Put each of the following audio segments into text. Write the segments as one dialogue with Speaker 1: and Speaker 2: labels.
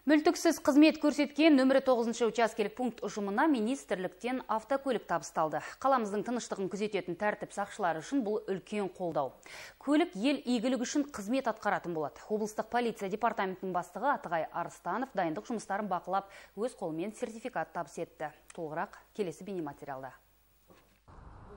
Speaker 1: Мүлтіксіз қызмет көрсеткен нөмірі 9 учаскелік пункт ұжымына министрліктен автокөлік табысталды. Қаламыздың тыныштығын күзететін тәртіп сақшылары үшін бұл үлкен қолдау. Көлік ел игілігі үшін қызмет атқаратын болады. Облыстық полиция департаментінің бастығы Атығай Арыстанов дайындық жұмыстарын бақылап, өз қолымен сертификат табыс етті. Толығырақ келесі бейнематериалда.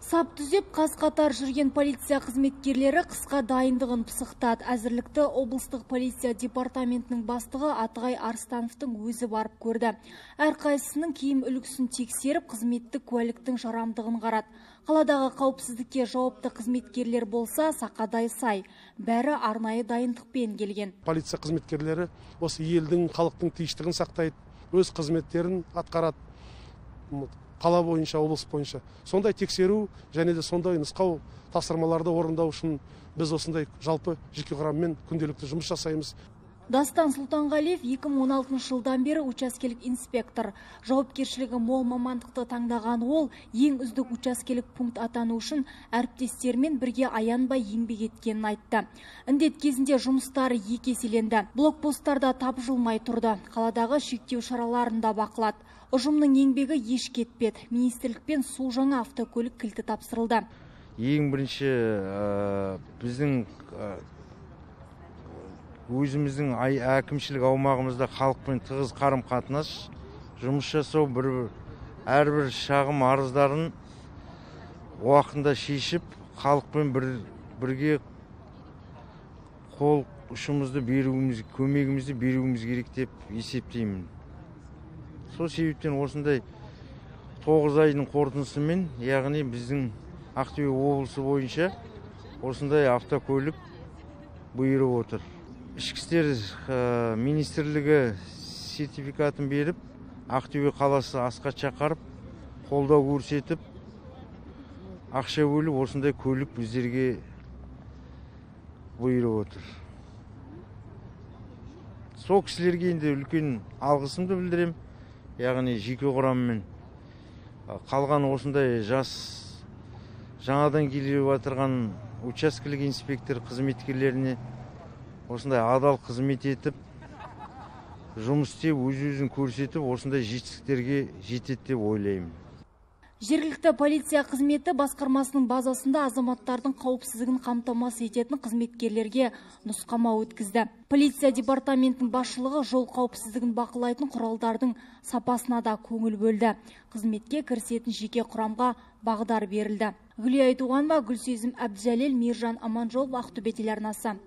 Speaker 2: Сап түзеп қаз-қатар жүрген полиция қызметкерлері қысқа дайындығын пысықтады. Әзірлікті облыстық полиция департаментінің бастығы Атығай Арыстановтың өзі барып көрді. Әрқайсысының киім үлгісін тексеріп, қызметтік куәліктің жарамдығын қарады. Қаладағы қауіпсіздікке жауапты қызметкерлер болса, сақадай сай. Бәрі арнайы дайындықпен келген.
Speaker 3: Полиция қызметкерлері осы елдің, халықтың тиіштігін сақтайды, өз қызметтерін атқарады. Қала бойынша, облыс бойынша. Сондай тексеру және де сондай нұсқау тапсырмаларды орындау үшін біз осындай жалпы жеке құраммен күнделікті жұмыс жасаймыз.
Speaker 2: Дастан Сұлтанғалиев 2016 жылдан бері учаскелік инспектор. Жауапкершілігі мол мамандықты таңдаған ол, ең үздік учаскелік пункт атану үшін әріптестермен бірге аянбай еңбек еткенін айтты. Індет кезінде жұмыстары екі еселенді. Блокпосттарда тапжылмай тұрды. Қаладағы шектеу шараларын да бақылады. Ұжымның еңбегі еш кетпеді. Министрлікпен су жаңа автокөлік кілті тапсырылды.
Speaker 4: Ең бірінші біздің өзіміздің әкімшілік аумағымызда халықпен тығыз қарым-қатынас жұмыс жасау, әрбір шағым арыздарын уақытында шешіп, халықпен бірге қол ұшымызды беруіміз, көмегімізді беруіміз керек деп есептеймін. Сол себептен осындай 9 айдың қорытындысымен, яғни біздің Ақтөбе облысы бойынша осындай автокөлік бұйырып отыр. Ішкі істер министрлігі сертификатын беріп, Ақтөбе қаласы асхат шақырып, қолдау көрсетіп, ақша бөліп, осындай көлік біздерге бұйырып отыр. Сол кісілерге енді үлкен алғысымды білдірем. Яғни жеке құраммен қалған осындай жас жаңадан келіп отырған учаскелік инспектор қызметкерлеріне осындай адал қызмет етіп, жұмыс істеп, өз-өзін көрсетіп, осындай жетістіктерге жетеді деп ойлаймын.
Speaker 2: Жергілікті полиция қызметі басқармасының базасында азаматтардың қауіпсіздігін қамтамасыз ететін қызметкерлерге нұсқама өткізді. Полиция департаментінің басшылығы жол қауіпсіздігін бақылайтын құралдардың сапасына да көңіл бөлді. Қызметке кірісетін жеке құрамға бағдар берілді. Гүлия Айтуғанова, Гүлсезім Әбдіжәлел, Мейіржан Аманжолов, Ақтөбе телеарнасы.